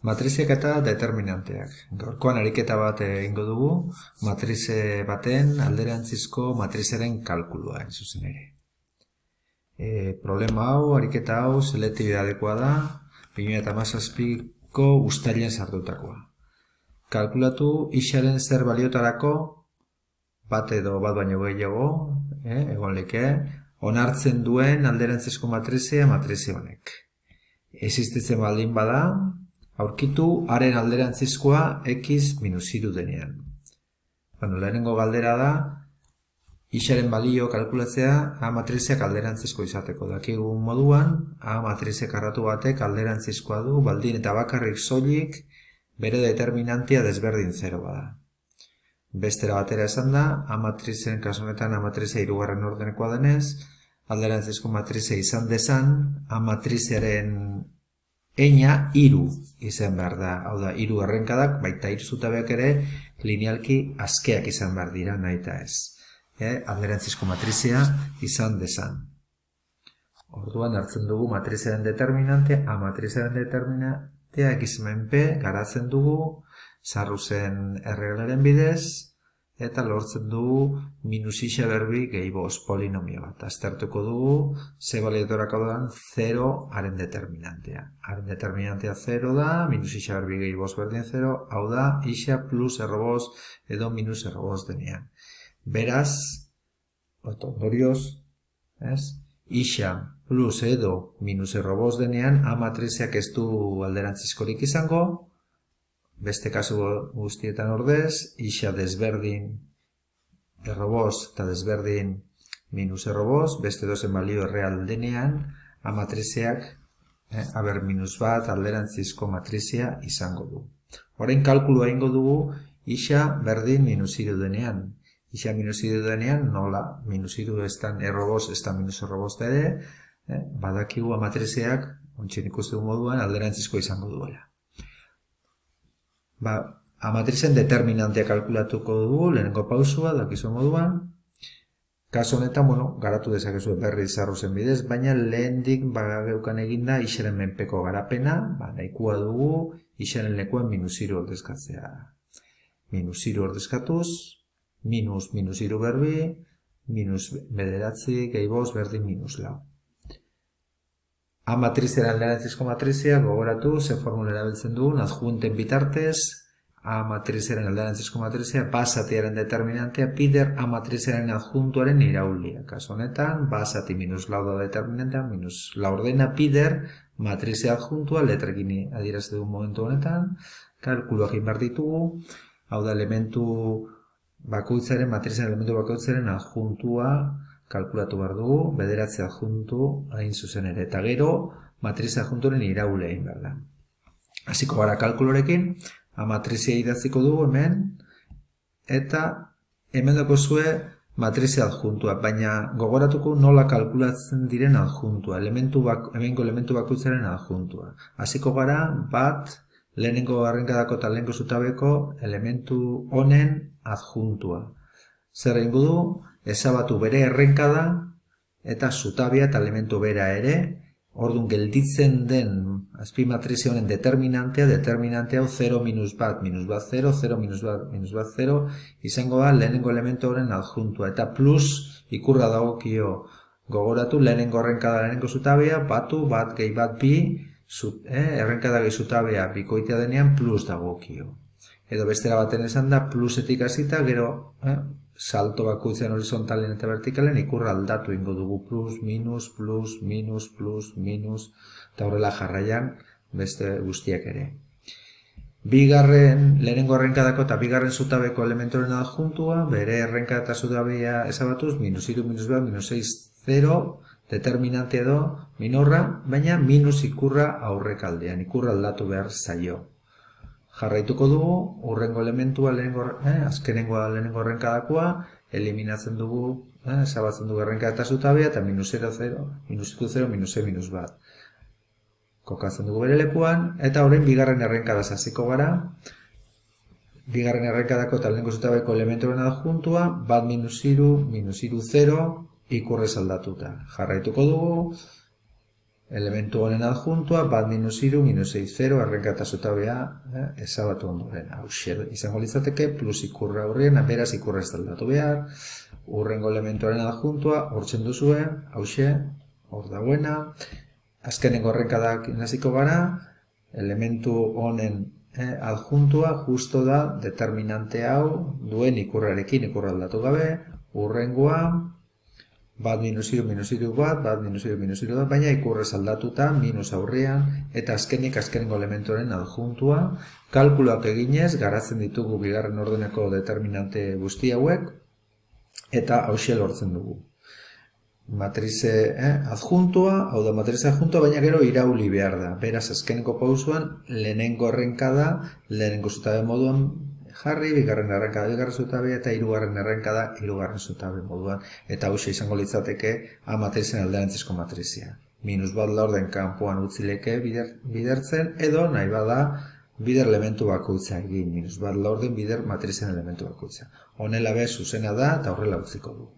Matriziak eta determinanteak. Gaurkoan ariketa bat egingo dugu, matrize baten alderantzizko matrizaren kalkulua, hain zuzen ere. Problema hau, ariketa hau, selektibidadekoa da, 2017ko uztailean sartutakoa. Kalkulatu isaren zer baliotarako, bat edo bat baino gehiago, egon leke, onartzen duen alderantzizko matrizea matrize honek. Existitzen baldin bada, aurkitu haren alderantzizkoa x minus iru denean. Lehenengo galdera da, isaren balio kalkulatzea A matrizeak alderantzizko izateko. Dakigun moduan, A matrize karratu batek alderantzizkoa du, baldin eta bakarrik soilik bere determinantia desberdin 0 bada. Bestera batera esan da, A matrizen kasu honetan A matrizea hirugarren ordenekoa denez, alderantzizko matrizea izan dezan, A matrizearen eina hiru izan behar da. Hau da, hiru errenkadak, baita hiru zutabeak ere, linealki askeak izan behar dira, nahi eta ez. Alderantzizko matrizea izan dezan. Orduan hartzen dugu matrizearen determinantea, A matrizearen determinantea x menpe garatzen dugu, Sarrusen erreglaren bidez, eta lortzen dugu minus isa berbi gehi bost polinomio bat. Aztertuko dugu, ze baliotorak hau da 0 haren determinantea. Haren determinantea 0 da, minus isa berbi gehi bost berdin 0, hau da, isa plus errobost edo minus errobost denean. Beraz, ondorioz, isa plus edo minus errobost denean, A matrizeak ez du alderantzizkorik izango, beste kasu guztietan ordez, isa desberdin errobost eta desberdin minus errobost, beste dozen balio erreal denean, A matrizeak, aber minus bat alderantzizko matrizea izango du. Orain kalkulua egingo dugu, isa berdin minus iru denean. Isa minus iru denean, nola, minus iru ez da errobost, ez da minus errobost ere, badakigu A matrizeak, ontsin ikusten moduan, alderantzizko izango duela. A matrizen determinantea kalkulatuko dugu, lehenengo pausua, dakizu moduan. Kaso honetan, garatu dezakezu berri Sarrusen bidez, baina lehendik bageukan eginda isaren menpeko garapena, nahikoa dugu isaren lekuan minus iru ordezkatzea. Minus iru ordezkatuz, minus iru berbi, minus bederatzi, gehi bost, berdin minus lau. A matrizearen alderantzizko matrizea gogoratu, ze formula erabiltzen dugun, adjunten bitartez, A matrizearen alderantzizko matrizea, basatiaren determinantea, pider A matrizearen adjuntuaren iraulia. Kaso honetan, basati minus lau da determinantea, minus lau ordena, pider matrizea adjuntua, letrekin adieraz dugun momentu honetan, kalkuluak inbar ditugu, hau da elementu bakoitzaren, matrizearen elementu bakoitzaren adjuntua, kalkulatu behar dugu, bederatze adjuntu hain zuzen ere, eta gero matrize adjunturen iraulea egin behar da. Hasiko gara kalkulorekin, A matrizea idatziko dugu hemen, eta hemen dakozue matrize adjuntua, baina gogoratuko nola kalkulatzen diren adjuntua, hemengo elementu bakoitzaren adjuntua. Hasiko gara bat, lehenengo arrenkadako eta lehenengo zutabeko elementu honen adjuntua. Zer egingo du? Ezabatu bere errenkada eta zutabea eta elementu bera ere, orduan gelditzen den azpimatrize honen determinantea hau 0 minus bat 0, 0 minus bat 0, izango da lehenengo elementu horren adjuntua, eta plus ikurra dagokio gogoratu lehenengo errenkada lehenengo zutabea, batu, bat gehi bat bi, errenkada gehi zutabea bikoitea denean plus dagokio. Edo bestera baten esan da, plusetik hasita, gero, salto bakoitzen horizontalen eta vertikalen ikurra aldatu ingo dugu plus, minus, plus, minus, plus, minus, eta horrela jarraian beste guztiak ere. Lehenengo errenkadako eta bigarren zutabeko elementoren adjuntua, bere errenkada eta zutabea ezabatuz, minus iru, minus bat, minus 6, 0, determinante edo minorra, baina minus ikurra aurrekaldean, ikurra aldatu behar zaio. Jarraituko dugu, urrengo elementua, azkenengoa lehenengo errenkadakoa, eliminatzen dugu, ezabatzen dugu errenkada eta zutabea, eta minus 0, 0, minus 0, minus 6, minus bat. Kokatzen dugu bere lekuan, eta orain bigarren errenkadaz hasiko gara. Bigarren errenkadako eta lehenengo zutabeko elementoren adjuntua, bat minus iru, 0, ikurrez aldatuta. Jarraituko dugu, elementu honen adjuntua, bat minus iru, minus 6, 0, errenka eta zutabea ezabatu ondoren. Hauxe izango litzateke, plus ikurra aurrien, beraz ikurra ez aldatu behar, urrengo elementuaren adjuntua, hortzen duzue, hauxe, hor dagoena, azkenengo errenkadak naziko gara, elementu honen adjuntua justo da determinante hau duen ikurrarekin ikurra aldatu gabe, urrengoa, bat minus iru, bat, bat minus iru, bat, baina ikurrez aldatuta, minus aurrean, eta azkenengo elementuaren adjuntua, kalkuloak eginez, garatzen ditugu bigarren ordeneko determinante guzti hauek, eta hauxe lortzen dugu. Matrize adjuntua, hau da matrize adjuntua, baina gero irauli behar da. Beraz, azkeneko pausuan, lehenengo errenkada, lehenengo zutabe moduan jarri, bigarren errenkada, bigarren zutabe, eta hirugarren errenkada, hirugarren zutabe moduan. Eta hauxe izango litzateke, matrizen alderantzizko matrizia. Minus bat laurden kanpoan utzileke bidertzen, edo nahi bada, bider elementu bakoitza egin. Minus bat laurden bider matrizen elementu bakoitza. Honela be, zuzena da, eta horrela utziko du.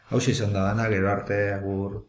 Hauxe izan da dana, gero arte, agur.